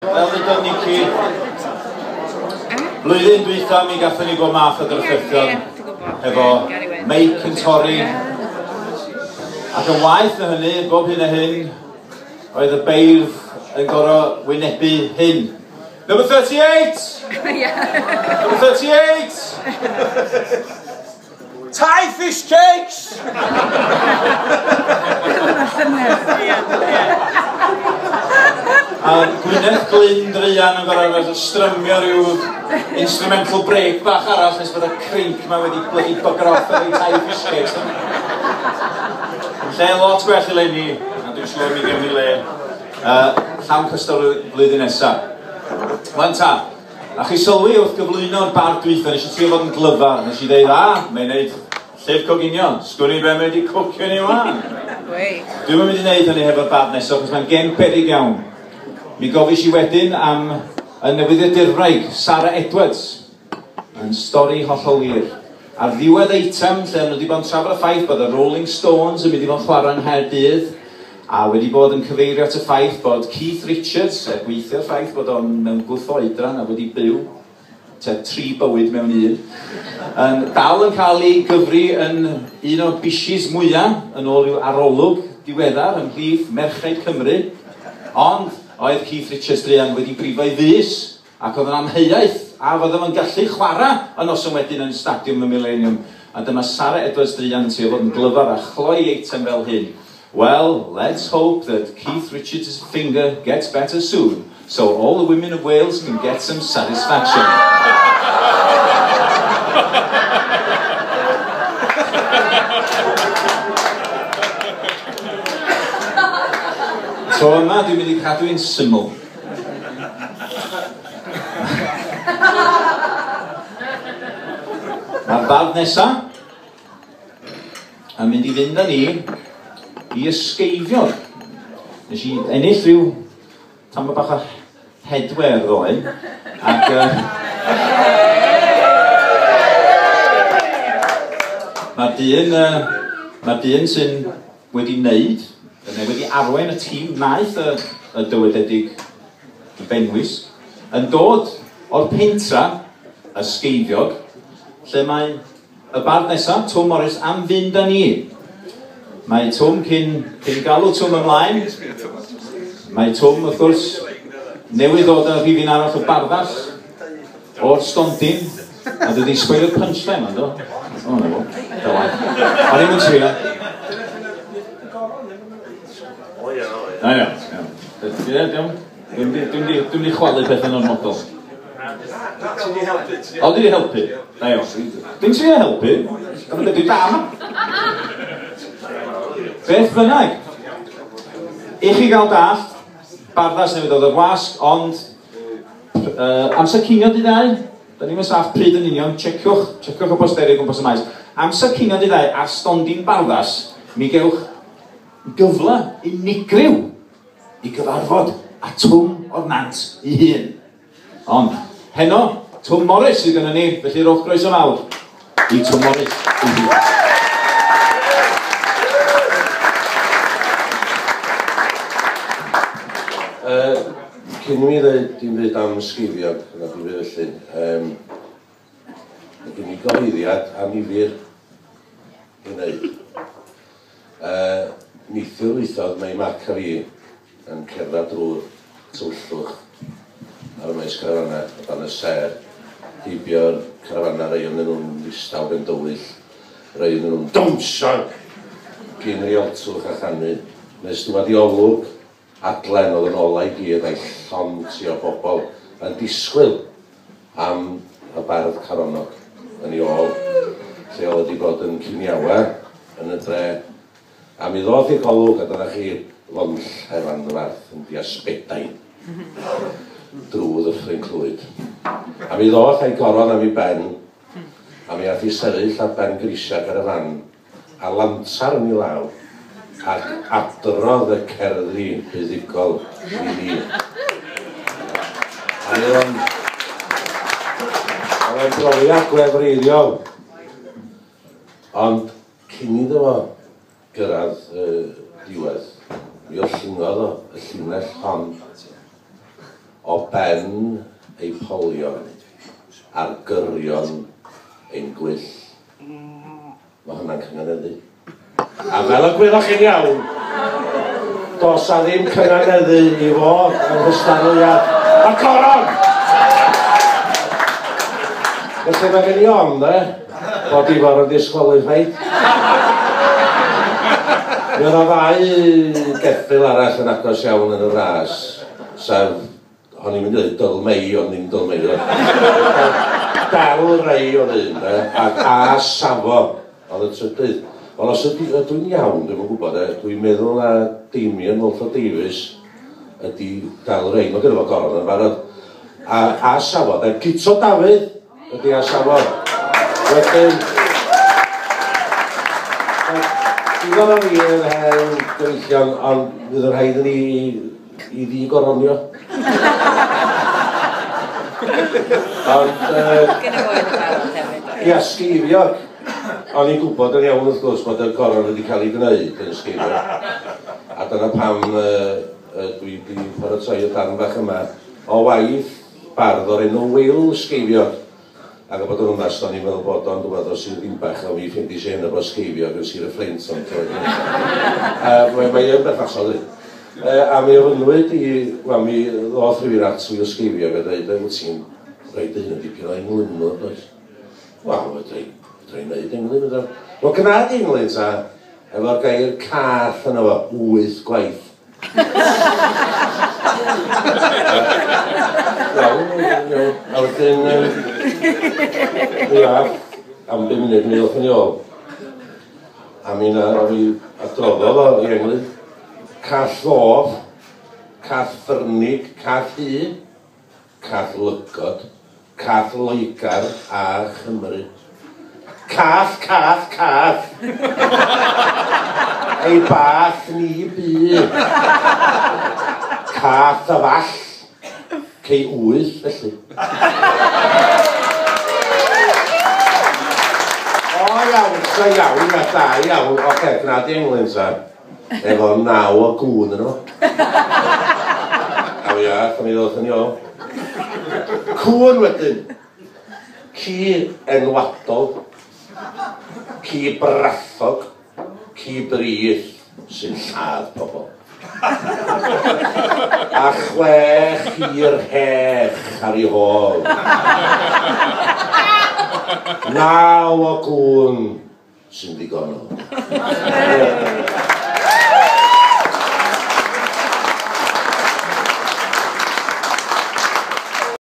Fel ddudodd Nici, blwyddyn dwytha mi gathon ni bob math o drafferthion hefo meic yn torri, ac yn waeth na hynny, bob hyn a hyn, oedd y beirdd yn gorfod wynebu hyn. Number 38! Number 38! Thai fish cakes! A Gwyneth Glyn druan yn gorfod strymio rhyw instrumental break bach arall nes bod y crinc ma wedi bloody bugger off efo'i Thai fish cakes. Lle lot gwell eleni, a dwi'n siŵr mi gewn ni le llawn cystal flwyddyn nesa. Wan ta, A chi sylwi wrth gyflwyno'r bardd dwytha, nes i trio fod yn glyfar, nes i ddeud, a, mae'n neud llyfr coginio, sgwn i be mae wedi cwcio ni wan. Dwi'm yn mynd i wneud hynny hefo'r bardd nesaf, achos mae'n gem beryg iawn. Mi gofis i wedyn am y newyddiadurwraig, Sara Edwards, yn stori hollol wir. Ar ddiwedd eitem lle o'n nhw wedi bod yn trafod y ffaith bod y Rolling Stones yn mynd i fod yn chwarae yng Nghaerdydd, a wedi bod yn cyfeirio at y ffaith bod Keith Richards, er gweithio'r ffaith bod o'n mewn gwth oedran a wedi byw tua tri bywyd mewn un, yn dal yn cael ei gyfri yn un o'r bishis mwyaf yn ôl rhyw arolwg diweddar ymhlith merched Cymru, ond oedd Keith Richards druan wedi brifo'i fys Ac oedd yn amheuaeth a fydde fo'n gallu chwarae y noson wedyn yn Stadiwm y Mileniwm. A dyma Sara Edwards druan yn trio fod yn glyfar a chloi eitem fel hyn, Well, let's hope that Keith Richards' finger gets better soon, so all the women of Wales can get some satisfaction. Tro yma dwi'n mynd i cadw hi'n syml. Mae'r bardd nesa yn mynd i fynd â ni i ysgeifiog. Nes i ennill rhyw tamed bach o headwear ddoe, ac mae'r dyn, mae'r dyn sy'n wedi wneud, neu wedi arwain y tîm wnaeth y, y dywededig Fenwys, yn dod o'r pentra, Ysgeifiog, lle mae y bardd nesaf, Twm Morys, am fynd â ni. Mae Twm, cyn, cyn galw Twm ymlaen, mae Twm, wrth gwrs, newydd ddod â rhifyn arall o Barddas, o'r stondin, a dwi wedi sboilio'r punchline ma'n do? O, na fo. Da waith. O'n i'm yn trio. O ia, o ia. Na iawn, iawn. Ie, iawn. Dwi'n dwi'n di chwalu pethau'n ormodol. Ti di helpu. O, dwi di helpu. Da iawn. Dwi'n trio helpu. Dwi'n dwi da yma. Beth bynnag. I chi gael dallt, Barddas newydd ddod o'r wasg, ond amser cinio dydd Iau, da ni'm yn saff pryd yn union, checiwch, checiwch y posteri o gwmpas y maes. Amser cinio dydd Iau ar stondin Barddas, mi gewch gyfle unigryw i gyfarfod â Twm o'r Nant ei hun. Ond, heno, Twm Morys sydd gynnon ni, felly rhowch groeso mawr i Twm Morys ei hun. Cyn i mi ddeud dim byd am ysgeifiog, na dim byd felly, um, mae gen i gyhoeddiad annifyr i wneud. Neithiwr weithodd mae Mark a fi yn cerdded drwy'r tywyllwch ar y maes carafanau o dan y sêr, heibio'r carafanau, rhai ohonyn nhw'n ddistaw ben dywyll, rhai ohonyn nhw'n dawnsio gyn rialtwch a chanu, nes dŵad i olwg adlen oedd yn olau i gyd a'i llond tu o bobl yn disgwyl am y bardd Caronnog yn ei ôl, lle oedd wedi bod yn ciniawa yn y dre. A mi ddoth i'r golwg, a dyna chi lond llef anferth yn diasbedain drwy Ddyffryn Clwyd. A mi ddoth a'i goron am ei ben, a mi ath i sefyll ar ben grisiau ger y fan, a lantar yn ei law, ac adrodd y cerddi buddugol i ni. A mi oedd o'n oedd o'n brofiad gwefreiddiol. Ond cyn iddo fo gyrraedd y diwedd, mi ollyngodd o y llinell hon. O ben ei polion ar gyrion ein gwyll. Mae hwnna'n cynganeddu. A fel y gwyddoch chi'n iawn, does a ddim cynganeddu i fod yng nghystadleuaeth y coron! Felly mae gen i ofn, de, bod Ifor yn disqualified. Mi oedd o ddau geffyl arall yn agos iawn yn y ras, sef, o'n i'n mynd i ddweud Dyl Mei, ond ddim Dyl Mei. Del Rey oedd un, de, ac A Safo oedd y trydydd. Ond os ydw i'n iawn, dwi'm yn gwybod, dwi'n meddwl na Damien Walter Davies ydy Del Rey. Mae gynno fo goron yn barod. A Safo, de, Guto Dafydd ydy A Safo. Wedyn, digon o fi yn hen gyfeillion, ond fydd yn rhaid i ni i ddi-goronio. Ond, ia, Sgeifiog. O'n i'n gwybod yn iawn wrth gwrs bod y goron wedi cael ei gwneud yn Sgeifiog. A dyna pam dwi wedi paratoi y darn bach yma o waith bardd o'r enw Wil Sgeifiog. Ac o bod yn onast, o'n i'n meddwl bod o'n dŵad o Sir Ddinbych, a mi ffeindis i hynny bod Sgeifiog yn Sir y Fflint, ond mae yn berthnasol, dydi. A mi ofynnwyd i, wel, mi ddoth rhywun at Wil Sgeifiog a dweud, wyt ti'n rhoi dy hun yn dipyn o englynwr, does? Wel, fedra i wneud englyn, fedra. Wel, gwna di englyn, ta, efo'r gair cath yno fo, 8 gwaith. Iawn, iawn. A wedyn, ia, am 5 munud mi ddoth yn ôl. A mi na, mi adroddodd o i englyn. Cath ddof, cath ffyrnig, cath hu, cath lygod, cath Loegr a Chymru. Cath, cath, cath! Ei bath ni bu. Cath a fall, cei 8 felly. O iawn, ta iawn, a da iawn. Oce, gwna di englyn ta. Efo 9 o gŵn yno. A fi ath, a mi ddoth yn ôl. Cŵn wedyn. Ci enwadol. Ci brathog. Ci brith sy'n lladd pobl. A 6 i'r hech ar ei hôl. 9 o gŵn sy'n ddigonol.